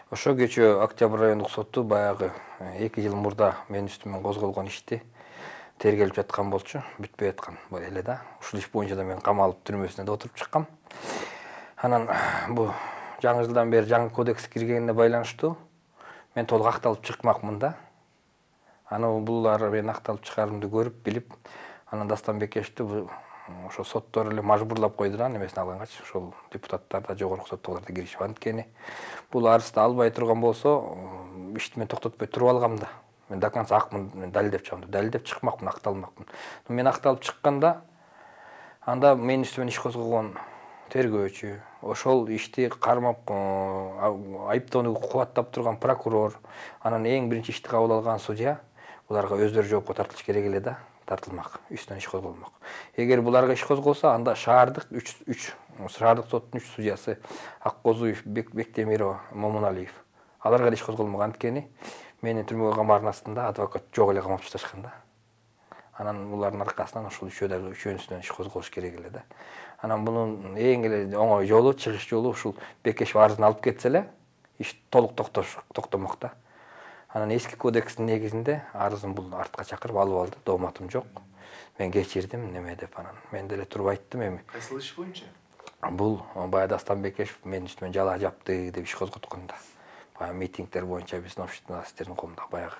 Ошо кечээ Октябрь райондук соту баягы 2 жыл мурда мен үстүмө козголгон ишти тергелип жаткан болчу, бүтпөй аткан эле да. Ушул иш боюнча да мен камалып түрмөсүнө да отуруп чыккам. Анан бул жаңы жылдан бери жаңы кодекс киргенине байланыштуу мен толук акталып чыкмакмын да. Анан булар мен акталып чыгарымды көрүп, билип, анан Дастан Бекешти ошо соттор эле мажбурлап койду да немесин алгангач, ошол депутаттар да жогорку соттогулар да киришип анткени бул арызды албай турган болсо, ишти мен токтотпой туруп алгам да. Мен до конца акмын, мен далилдеп чыгам, далилдеп чыкмакмын, акталмакмын. Мен акталып чыкканда анда менин үстүмөн иш козгогон тергөөчү, ошол ишти кармап айыптоону кубаттап турган прокурор, анан эң биринчи ишти кабыл алган судья буларга өздөрү жоопко тартылыш керек эле да, тартылмак, үстүнөн иш козголмок. Эгер буларга иш козголсо, анда шаардык шаардык соттун 3 судьясы Аккозуев, Бектемирова, Момуналиев аларга да иш козголмок, анткени мени түрмөгө камаардын астында адвокат жок эле камап ташташкан да. Анан булардын аркасынан ошол үчөөнүсүнөн иш козголуш керек эле да. Анан бунун эң эле оңой жолу, чыгыш жолу ушул Бекешев арызын алып кетсе эле, иш толук токтомок да. Анан эски кодекстин негизинде арызын бул артка чакырып алып алды, дооматым жок. Мен кечирдим, неме деп анан мен деле туруп айттым эми. Кайсыл иш боюнча? Бул баягы Дастан Бекешев менин үстүмө жала жапты деп иш козготкон да. Баягы митингдер боюнча биздин общественностьтин коомунда баягы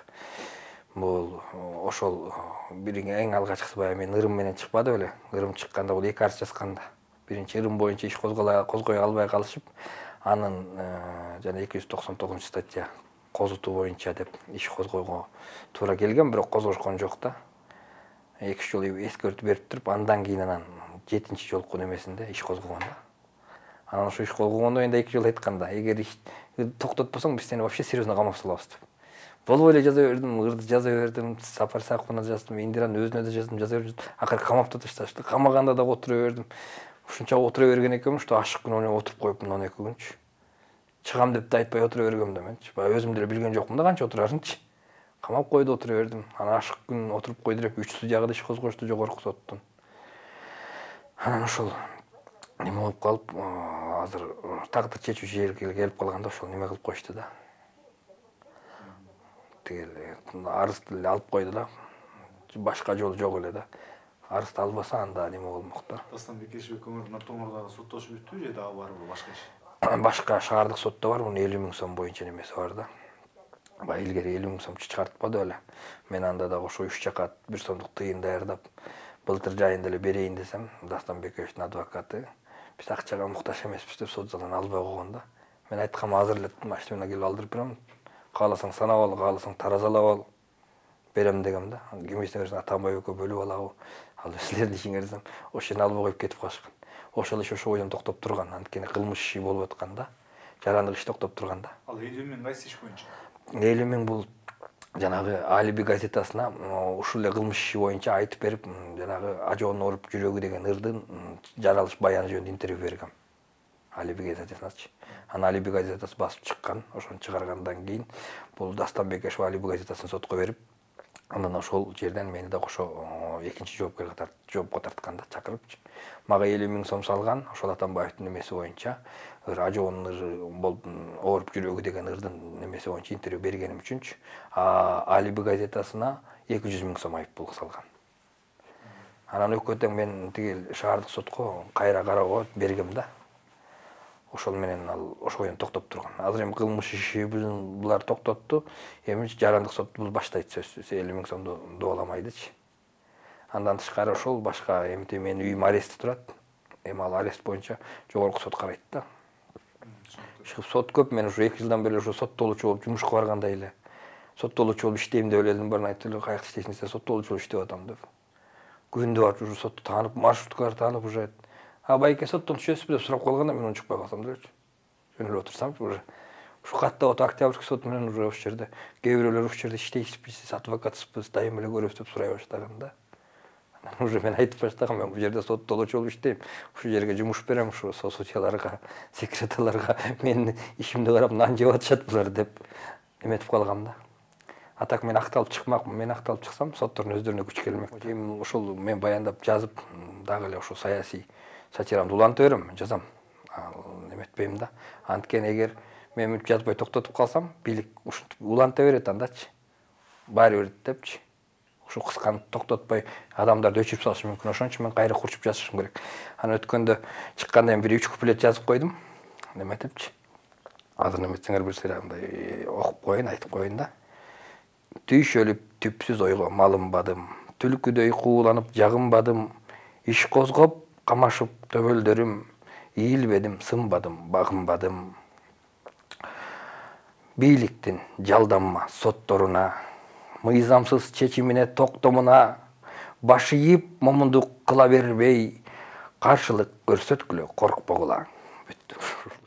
бул ошол бир эң алгачкысы баягы мен Ырым менен чыкпадым эле. Ырым чыкканда бул 2 арыз жазганда. Биринчи Ырым боюнча иш козгой албай калышып, анын жана 299 статья козутуу боюнча деп иш козгойго туура келген, бирок козгошкон жок да. 2 жол эскертүү берип туруп, андан кийин анан 7-чи жолку немесинде иш козгогон да. Анан ошо иш козгогондо энди 2 жол айтканда, эгер иш токтотпосоң биз сени вообще серьезно камап салабыз деп. Болбой эле жаза бердим, Ырды жаза бердим, Сапар Саковна жаздым, Индиранын өзүнө да жаздым, жаза бердим. Акыры камап да ташташты. Камаганда да отура бердим. Ушунча отура берген экенмин, что ашык күнү отуруп коюптмун 12 күнчү. Чыгам деп да айтпай отура бергем да менчи. Баягы өзүм деле билген жокмун да канча отурарынчы. Камап койду, отура бердим. Анан ашык күн отуруп койду деп 3 судьяга да иш козгошту жогорку соттун. Анан ошол неме болуп калып, азыр тагдыр чечүүчү жерге келип калганда ошол неме кылып коюшту да. Тигил арызды эле алып койду да. Башка жол жок эле да. Арызды албаса анда неме болмок да. Дастан Бекешев экөөңөр Натоңордогу соттошуп бүттү же дагы барбы башка иш? Башка шаардык сотто бар, мунун 50 000 сом боюнча немеси бар да. Баягы илгери 50 000 сом чыгартпады эле. Мен анда дагы ошо 3 жака 1 сомдук тыйын даярдап, былтыр жайында эле берейин десем, Дастан Бекешевдин адвокаты биз акчага муктаж эмеспиз деп сот залынан албай койгон да. Мен айткам, азыр эле машина менен келип алдырып берем. Кааласаң санап ал, кааласаң таразалап ал. Берем дегем да. Кимисине берсең Атамбай экөө бөлүп алабы. Ал силердин ишиңер десем, ошол жерден албай коюп кетип калышкан. Ошол иш ошо бойдон токтоп турган, анткени кылмыш иши болуп атканда, жарандык иш токтоп турганда. Ал 50 000 кайсы иш боюнча? 50 000 бул жанагы Алиби газетасына ушул эле кылмыш иши боюнча айтып берип, жанагы ажоонун ооруп жүрөгү деген ырдын жаралыш баяны жөнүндө интервью бергем. Алиби газетасыначы. Анан Алиби газетасы басып чыккан, ошону чыгаргандан кийин бул Дастан Бекешев Алиби газетасын сотко берип, андан ошол жерден мени да ошо экинчи жоопко тартканда чакырыпчы. Мага 50 000 сом салган, ошол Атамбаевдин немеси боюнча, ажоонун ооруп жүрөгү деген ырдын немеси боюнча интервью бергеним үчүнчү, Алиби газетасына 200 000 сом айыппул салган. Анан өкө тең мен тигил шаардык сотко кайра кароого бергем да. Ошол менен ал ошол бойдон токтоп турган. Азыр эми кылмыш иши булар токтотту. Эми жарандык сот бул баштайт сөзсүз 50 000 сомду дооламайдычы. Андан тышкары ошол башка эмти менин үйүм арестте турат. Эми ал арест боюнча жогорку сот карайт да. Сот көп, мен ушу 2 жылдан бери ушу соттолуучу болуп жумушка баргандай эле. Соттолуучу болуп иштейм деп эледим, барын айтты эле, каякта иштейсиң десе, соттолуучу болуп иштеп атам деп. Күндү барып ушу сотту таанып, маршруткалар таанып уже байке соттон түшөсүзбү деп сурап калганда мен унчукпай калсам делечи. Жөн эле отурсам уже ушу катта Октябрьский сот менен уже ошол жерде кээ бирөөлөр ушул жерде иштейсизби, адвокатсызбы, дайым эле көрөбүз деп сурай баштаганда. Уже мен айтып баштагам, мен бул жерде соттолуучу болуп иштейм. Ушул жерге жумуш берем, ушу судьяларга, секретарларга менин ишимди карап нан жеп атышат булар деп эметип калгам да. А так мен акталып чыкмакмын. Мен акталып чыксам, соттордун өздөрүнө күч келмек. Эми ошол мен баяндап жазып, дагы эле ошо саясий сатирамды уланта берем, жазам. Эметпейм да. Анткени эгер мен мынтип жазбай токтотуп калсам, бийлик ушинтип уланта берет андачы. Баары бир депчи. Ушу кысканы токтотпой адамдарды өчүрүп салышы мүмкүн. Ошон үчүн мен кайра курчуп жазышым керек. Аны өткөндө чыккандан кийин 3 куплет жазып койдум. Неме депчи. Азыр неметсеңер билсеңер андай окуп коеюн, айтып коеюн да. Түйшөлүп түпсүз ойго малынбадым. Түлкүдөй кууланып жагынбадым. Иш козгоп, камашып төбөлдөрүм. Ийилбедим, сынбадым, багынбадым. Бийликтин жалданма сотторуна, мыйзамсыз чечимине токтомуна, баш ийип момундук кыла бербей, каршылык көрсөткүлө коркпогула. Бүттү.